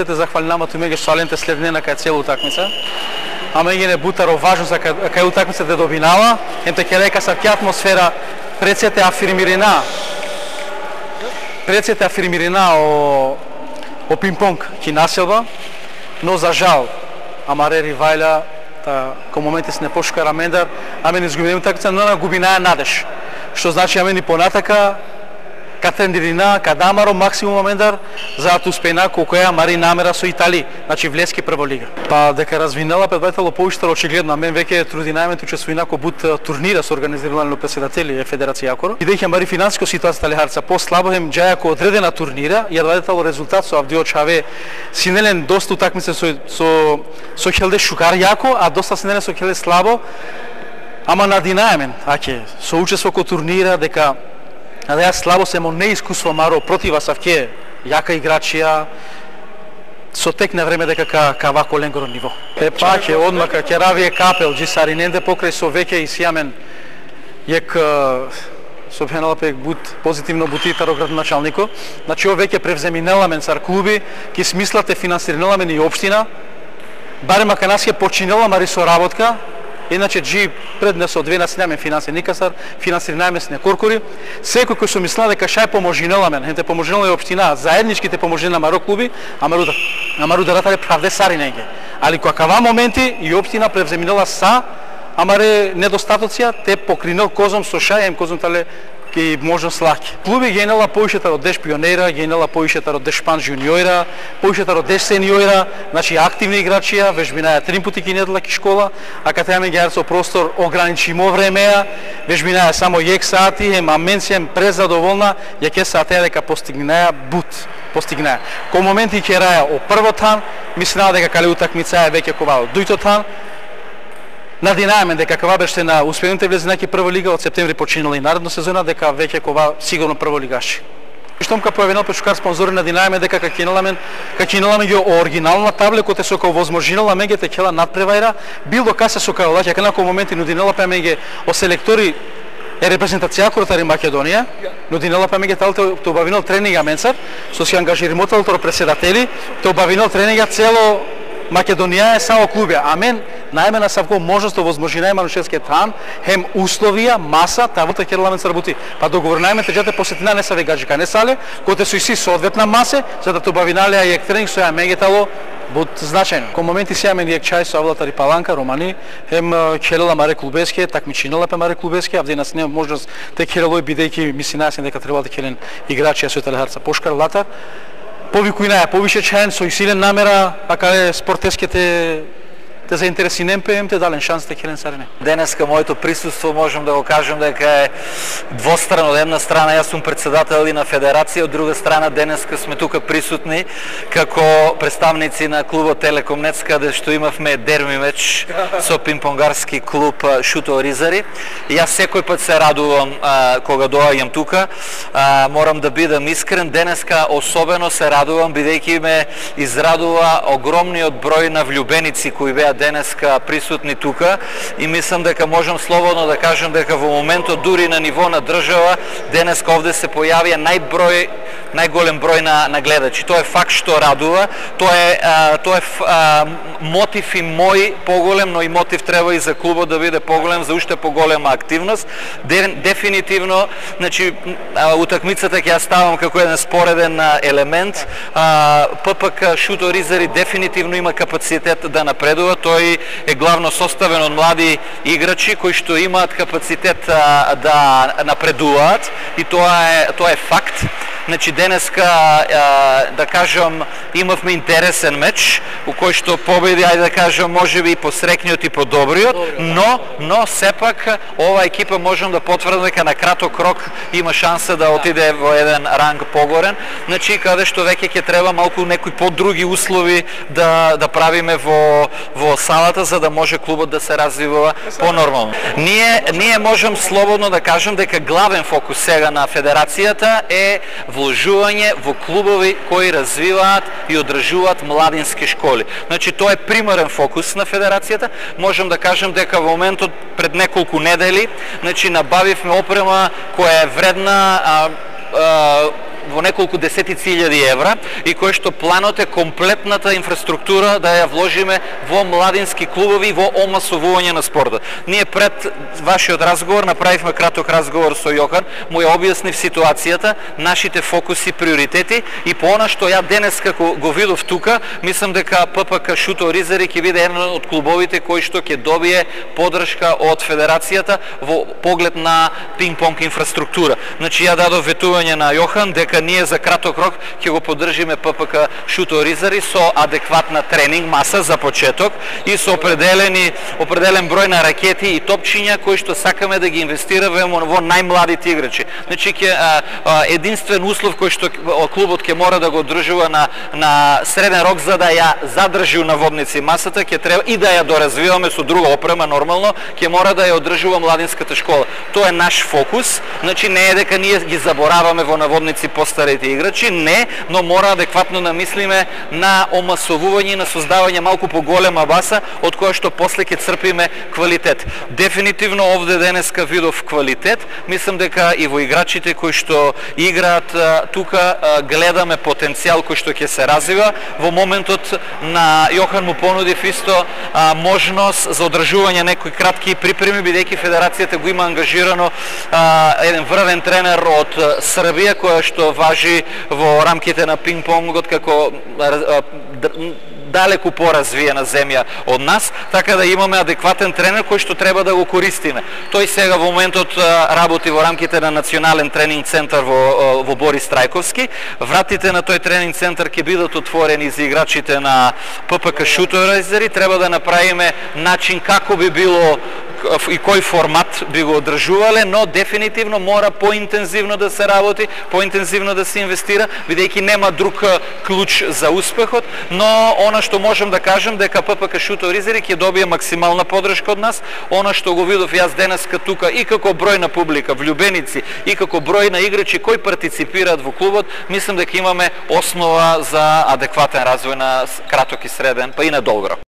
се захвали нама туме шаленте следнена кај целу утакмица. Ама ги не бутаро важно за кај утакмица да добинава, емте ке река са атмосфера прецете афирмирина о пинг-понг ки населба, но за жал амаре ривајля кај моменти се не пошкара мендар, аме не изгубиме утакмица, но на губинаја надеж. Што значи аме ни понатака ка тренирина, ка дамаро максимум мендар, за да успеена колку е амари намера со Итали, значи влески прва лига. Па дека развинела предвајтело поуштар очигледно, мен веќе труди најмет учествува инако бут турнира со организирани председатели Федерација Јакоро. Бидејќи амари финансиско ситуација Талихарца по-слабо ем џајако одредена турнира, ја дадетело резултат со Авдио Чаве синелен доста утакмица со Хелде Шукар јако, а доста синелен со Хелде слабо. Ама надинаемен, со учество ко турнира дека да ја слабо семо неискуство маро протива Савке, јака играчија, со тек на време дека ка вако ленгоро ниво. Паќе одмака ќе равие капел, джисариненде покрај со веќе и сијамен јек со пенала пек бут позитивно бутитаро градоначалнико. Значи о веќе превземинеламен сар клуби, ки смислате финансиринеламен и општина, барем ака нас ќе починела мари со работка. Иначе джи преднесо две наснемен финанси никасар, финансирнаеме с некоркори. Секој кој со мисла дека шај поможинеламен, хенте поможинела и општина, заедничките поможина маро клуби, амару да ратаре правде сари неге. Али кога моменти и општина превземинела са, амаре недостатоција, те покринел козом со шај, козом тале ки можност лаки. Клуби генела поишетар од Деш пионера, генела поишетар од Деш Шпан жуниора, поишетар од Деш сениора, значи активни играчија, вежбинаја 3 пати ки недела ки школа, а кај теме геар со простор ограничимо времеа, вежбинаја само јек сати, аменсија презадоволна, ја ке сатеа дека постигнаја бут. Постигнаја. Ко моменти ќе раја о првотан, мислеа дека кале утакмица е веќе ковал дујтотан. Надинаеме дека кога беше на успените влезенаки прва лига од септември починала и наредна сезона дека веќе кога сигурно прволигаши. Штом ка појавенал пешкар спонзори надинаеме дека какиналамен ги оригинална табле коте со као возможинала меѓе те кела надпревајра бил до касе со као лаќа канако моменти нудинела па меѓе о селектори е репрезентација Кротари Македонија, нудинела па меѓе талте то обавинал тренинга менсар со си ангажирамотел председатели, то обавинал тренинга цело Македонија е само клуби, а мен најмена савко можност да возможинај манушевскиот тан, хем условија, маса, тавото ќе ламен работи. Па договорнајме теџате посетина не са вегаџика, не сале, коте со иси соодветна масе, за да тубавиналеа јек тренинг со ја мегетало бут значајно. Ко моменти сијамен јек чај со Авлатари Паланка, Романи, хем келела маре клубеске, такмичинела пе маре клубеске, авде нас нема можност те келелој бидејќи мислинајсен дека требало да келен играчи со Талихарца Пошкар Латар. Повикујнаја повише чаен со силен намера, а каде спортеските те заинтересинем пеем, те дален шанс да келен сарене. Денеска моето присуство можам да го кажам дека е двострано. Од една страна јас сум председател и на федерација, од друга страна денеска сме тука присутни како представници на клубот Телекомнет, каде што имавме дерби меч со пинг-понгарски клуб Шуто Ризари. И јас секој пат се радувам кога доаѓам тука. Морам да бидам искрен, денеска особено се радувам бидејќи ме израдува огромниот број на влюбеници кои беа денеска присутни тука и мислам дека можам слободно да кажам дека во моментот дури на ниво на држава денеска овде се појавија најголем број на гледачи. Тоа е факт што радува, тоа е мотив и мој поголем, но и мотив треба и за клубот да биде поголем, за уште поголема активност. Дефинитивно, значи утакмицата ќе ја ставам како еден спореден елемент. ППК Шуто Ризари дефинитивно има капацитет да напредува. Тој е главно составен од млади играчи кои што имаат капацитет да напредуваат и тоа е факт. Значи денеска да кажам имавме интересен меч у кој што победи, ајде да кажам, можеби и посрекниот и подобриот, но сепак ова екипа можам да потврдам дека на краток рок има шанса да отиде во еден ранг погорен. Значи каде што веќе ќе треба малку некои подруги услови да правиме во салата за да може клубот да се развива понормално. Ние можам слободно да кажам дека главен фокус сега на федерацијата е вложување во клубови кои развиваат и одржуваат младински школи. Значи тоа е примарен фокус на федерацијата. Можам да кажам дека во моментот пред неколку недели, значи набавивме опрема која е вредна во неколку десетици илјади евра и кој што планот е комплетната инфраструктура да ја вложиме во младински клубови и во омасовување на спортот. Ние пред вашиот разговор направивме краток разговор со Јохан, му ја објаснив ситуацијата, нашите фокуси, приоритети и по она што ја денес како го видов тука, мислам дека ППК Шуто Оризари ќе биде еден од клубовите кој што ќе добие поддршка од федерацијата во поглед на пинг-понг инфраструктура. Значи ја дадов ветување на Јохан дека ние за краток рок ќе го поддржиме ППК Шуто Оризари со адекватна тренинг маса за почеток и со определен број на ракети и топчиња кои што сакаме да ги инвестираме во најмладите играчи. Значи единствен услов кој што клубот ќе мора да го одржува на среден рок за да ја задржи у наводници масата, ќе треба и да ја доразвиваме со друга опрема нормално, ќе мора да ја одржува младинската школа. Тоа е наш фокус. Значи не е дека ние ги забораваме во наводници постарите играчи, не, но мора адекватно да мислиме на омасовување, на создавање малку поголема баса од која што после ќе црпиме квалитет. Дефинитивно овде денеска видов квалитет. Мислам дека и во играчите кои што играат тука гледаме потенцијал кој што ќе се развива. Во моментот на Јохан му понудив исто можност за одржување некои кратки припреми, бидејќи федерацијата го има ангажирано еден врвен тренер од Србија која што важи во рамките на пинг-понгот како далеку поразвиена земја од нас, така да имаме адекватен тренер кој што треба да го користиме. Тој сега во моментот работи во рамките на национален тренинг центар во Борис Трајковски. Вратите на тој тренинг центар ќе бидат отворени за играчите на ППК Шуто Оризари. Треба да направиме начин како би било и кој формат би го одржувале, но дефинитивно мора поинтензивно да се работи, поинтензивно да се инвестира, бидејќи нема друг клуч за успехот, но она што можам да кажам дека ППК Шуто Оризари ќе добие максимална поддршка од нас. Она што го видов јас денеска тука и како број на публика, влюбеници, и како број на играчи кои партиципираат во клубот, мислам дека имаме основа за адекватен развој на краток и среден, па и на долго рок.